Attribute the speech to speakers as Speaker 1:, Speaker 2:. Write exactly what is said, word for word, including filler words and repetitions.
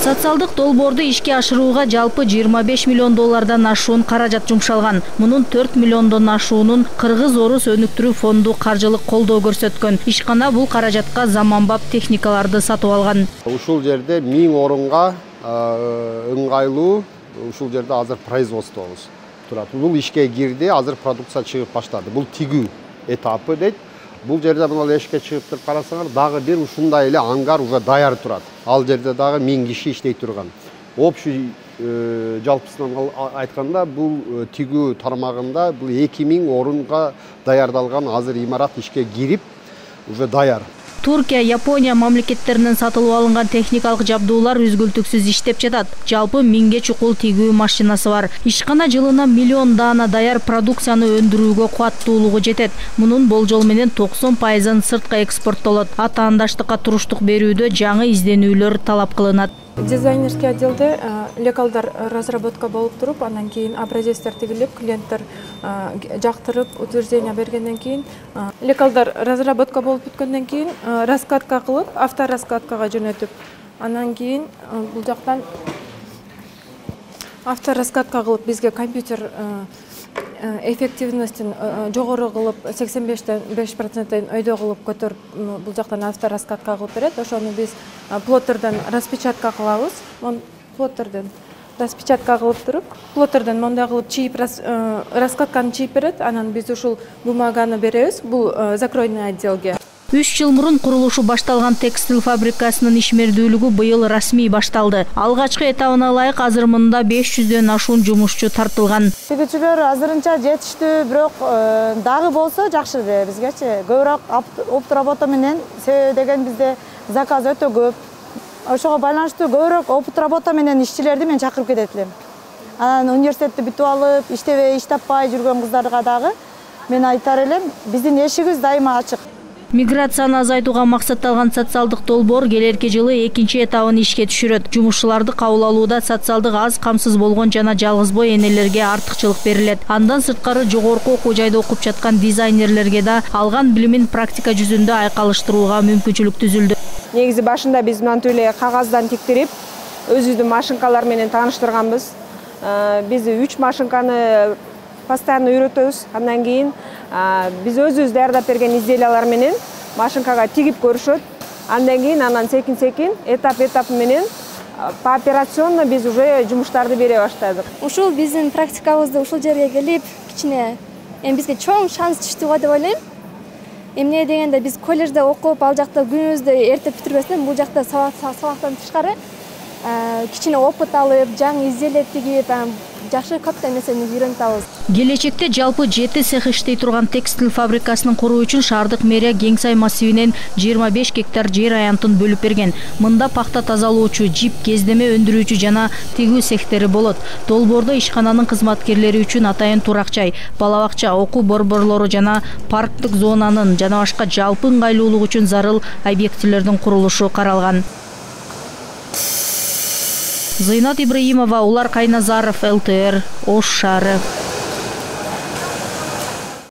Speaker 1: Социалдык долбоорду ишке ашырууга жалпы жыйырма беш миллион доллардан ашуун каражат жумшалган. Мунун төрт миллиондон ашуунун Кыргыз Орус өнүктүрүү фонду каржылык колдоо көрсөткөн. Ишкана бул каражатка заманбап техникаларды сатып алган.
Speaker 2: Ушул жерде миң орунга ыңгайлуу ушул жерде азыр производствобуз турат. Бул ишке кирди, азыр продукция чыгып баштады. Бул тигүү этапы дейт. Бул жерде мына эшикке чыгып туруп карасаңар, дагы бир ушундай эле ангар уже даяр турат. Ал жерде дагы миң киши иштей турган. Общий жалпысынан айтканда бул тигүү тармагында бул эки миң орунга даярдалган азыр имарат ишке кирип уже даяр.
Speaker 1: Туркия, Япония мамлекеттеринен сатылып алынган техникалык жабдуулар үзгүлтүксүз иштеп жатат. Жалпы миңге чукул тигүү машинасы бар. Ишкана жылына миллион даана даяр продукцияны өндүрүүгө кубаттуулугу жетет. Мунун болжол менен токсон пайызын сыртка экспорттолот. Атаандаштыкка туруштук берүүдө жаңы изденүүлөр талап кылынат.
Speaker 3: Дизайнерский отделде лекалдар разработка болуп туруп, андан кийин образецтер тигилип, клиенттер жактырып, утверждение бергенден кийин лекалдар разработка болуп бүткөндөн кийин раскатка кылып, автораскаткага жөнөтүп, андан кийин бул жактан автораскатка кылып бизге компьютер эффективностин жогору кылып сексен бештен беш проценттен өйдө кылып көтөрүп бул жактан автораскатка кылып берет. Ошону биз плоттерден распечатка кылабыз. Плоттерден распечатка кылып туруп, плоттерден мондай кылып чийип раскатканы чийип берет. Анан биз ушул бумаганы беребиз. Бул закройный отделге.
Speaker 1: үч жыл мурун курулушу башталган текстил фабрикасынын ишмердүүлүгү быйыл расмий башталды. Алгачкы этабына ылайык азыр мында беш жүздөн ашуун жумушчу тартылган.
Speaker 4: Тигүүчүлөр азырынча жетиштүү, бирок дагы болсо жакшы эле бизгечи. Көбүрөөк опт работа менен, себеби деген бизде заказ өтө көп. Ошого байланыштуу көбүрөөк опт работа менен ишчилерди мен чакырып кетет элем. Анан университетти бүтүп алып, иштебей, иш таппай жүргөн кыздарга дагы мен айтар элем, биздин эшигибиз дайыма ачык.
Speaker 1: Миграцияны азайтууга максатталган социалдык долбоор келерки жылы экинчи этабын ишке түшүрөт. Жумушчуларды кабыл алууда социалдык аз камсыз болгон жана жалгыз бой энелерге артыкчылык берилет. Андан сырткары жогорку окуу жайда окуп жаткан дизайнерлерге да алган билимин практика жүзүндө айкалыштырууга мүмкүнчүлүк түзүлдү.
Speaker 5: Негизи башында биз мынтип эле кагаздан тиктирип, өзүбүздүн машинкалар менен тааныштырганбыз. Биз үч машинканы постоянно үйрөтөбүз. Андан кийин биз өзүбүз даярдап берген изделиялар менен машинкага тигип көрүшөт. Андан кийин анан секин-секин этап-этап менен пооперационно биз уже жумуштарды бере баштадык.
Speaker 6: Ушул биздин практикабызды ушул жерге келип, кичине эми бизге чоң шанс түштү го деп ойлойм. Эмне дегенде биз колледжде окуп, ал жакта күнүбүздү эртеп бүтүрбөстөн бул жакта сабактан тышкары кичине опыт алып, жаңы изделие тигип, жакшы көптөн нерсени үйрөнүп алабыз.
Speaker 1: Келечекте жалпы жети цех иштей турган текстил фабрикасынын куруу үчүн шаардык мэрия Кеңсай массивинен жыйырма беш гектар жер аянтын бөлүп берген. Мында пахта тазалоочу, жип, кездеме өндүрүүчү жана тигүү цехтери болот. Долбоордо ишкананын кызматкерлери үчүн атайын турак жай, бала бакча, окуу борборлору жана парктык зонанын жана башка жалпы ыңгайлуулук үчүн зарыл объектилердин курулушу каралган. Зыйнат Ибраимова, Улар Кайназаров, эл тэ эр, Ош шаары.